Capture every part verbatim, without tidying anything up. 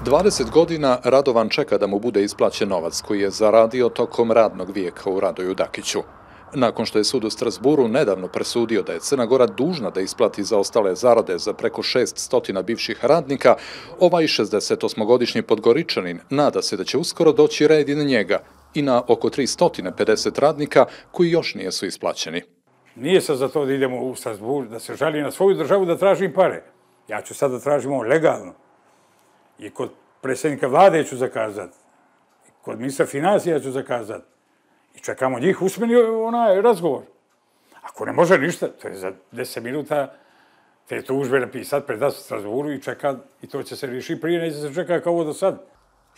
dvadeset godina Radovan čeka da mu bude isplaćen novac koji je zaradio tokom radnog vijeka u Radoju Dakiću. Nakon što je sud u Strasburu nedavno presudio da je Crna Gora dužna da isplati zaostale zarade za preko šessto bivših radnika, ovaj šezdesetosmogodišnji Podgoričanin nada se da će uskoro doći red i na njega i na oko tristo pedeset radnika koji još nisu isplaćeni. Nije sad za to da idemo u Strasbur, da se žali na svoju državu da tražim pare. Ja ću sad da tražim ovo legalno. I kod predsjednika vlade ću zakazati. Kod ministra financija ću zakazati. I čekamo njih usmeni onaj razgovor. Ako ne može ništa, to je za deset minuta te tužbe napisati pred nas u Strasburu i čeka, i to će se riješiti prije, neće se čeka kao ovo do sad.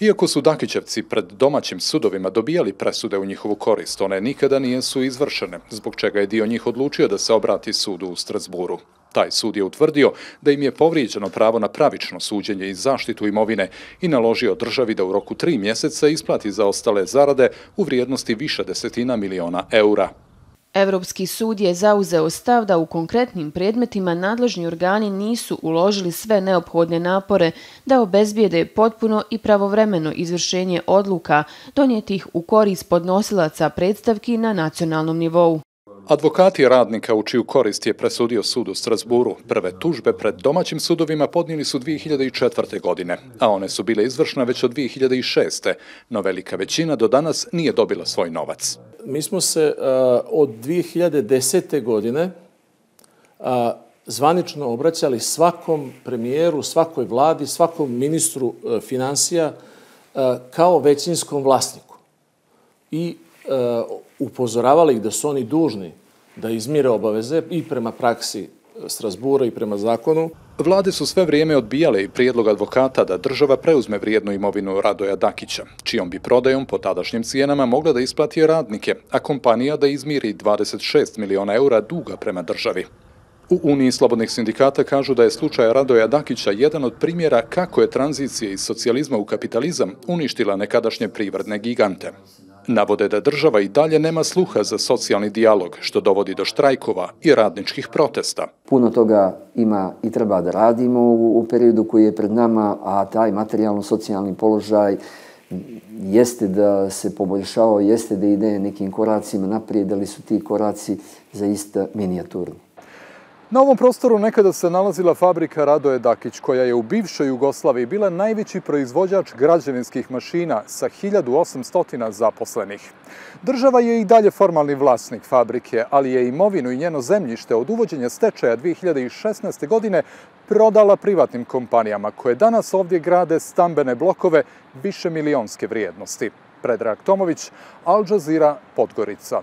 Iako su Dakićevci pred domaćim sudovima dobijali presude u njihovu korist, one nikada nisu izvršene, zbog čega je dio njih odlučio da se obrati sudu u Strasburu. Taj sud je utvrdio da im je povrijeđeno pravo na pravično suđenje i zaštitu imovine i naložio državi da u roku tri mjeseca isplati zaostale zarade u vrijednosti više desetina miliona eura. Evropski sud je zauzeo stav da u konkretnim predmetima nadležni organi nisu uložili sve neophodne napore da obezbijede potpuno i pravovremeno izvršenje odluka donijetih u korist podnosilaca predstavki na nacionalnom nivou. Advokati radnika u čiju korist je presudio sud u Strasburu prve tužbe pred domaćim sudovima podnijeli su dvije hiljade četvrte. godine, a one su bile izvršne već od dvije hiljade šeste. no velika većina do danas nije dobila svoj novac. Mi smo se uh, od dvije hiljade desete. godine uh, zvanično obraćali svakom premijeru, svakoj vladi, svakom ministru uh, financija uh, kao većinskom vlasniku. I uh, upozoravali ih da su oni dužni da izmire obaveze i prema praksi Strasbura i prema zakonu. Vlade su sve vrijeme odbijale i prijedlog advokata da država preuzme vrijednu imovinu Radoja Dakića, čijom bi prodajom po tadašnjim cijenama mogla da isplati radnike, a kompanija da izmiri dvadeset šest miliona eura duga prema državi. U Uniji slobodnih sindikata kažu da je slučaj Radoja Dakića jedan od primjera kako je tranzicija iz socijalizma u kapitalizam uništila nekadašnje privredne gigante. Navode da država i dalje nema sluha za socijalni dijalog, što dovodi do štrajkova i radničkih protesta. Puno toga ima i treba da radimo u periodu koji je pred nama, a taj materijalno-socijalni položaj jeste da se poboljšao, jeste da ide nekim koracima naprijed, ali su ti koraci zaista minijaturni. Na ovom prostoru nekada se nalazila fabrika Radoje Dakić, koja je u bivšoj Jugoslaviji bila najveći proizvođač građevinskih mašina sa hiljadu osamsto zaposlenih. Država je i dalje formalni vlasnik fabrike, ali je imovinu i njeno zemljište od uvođenja stečaja dvije hiljade šesnaeste. godine prodala privatnim kompanijama, koje danas ovdje grade stambene blokove više milionske vrijednosti. Predrag Tomović, Al Jazeera, Podgorica.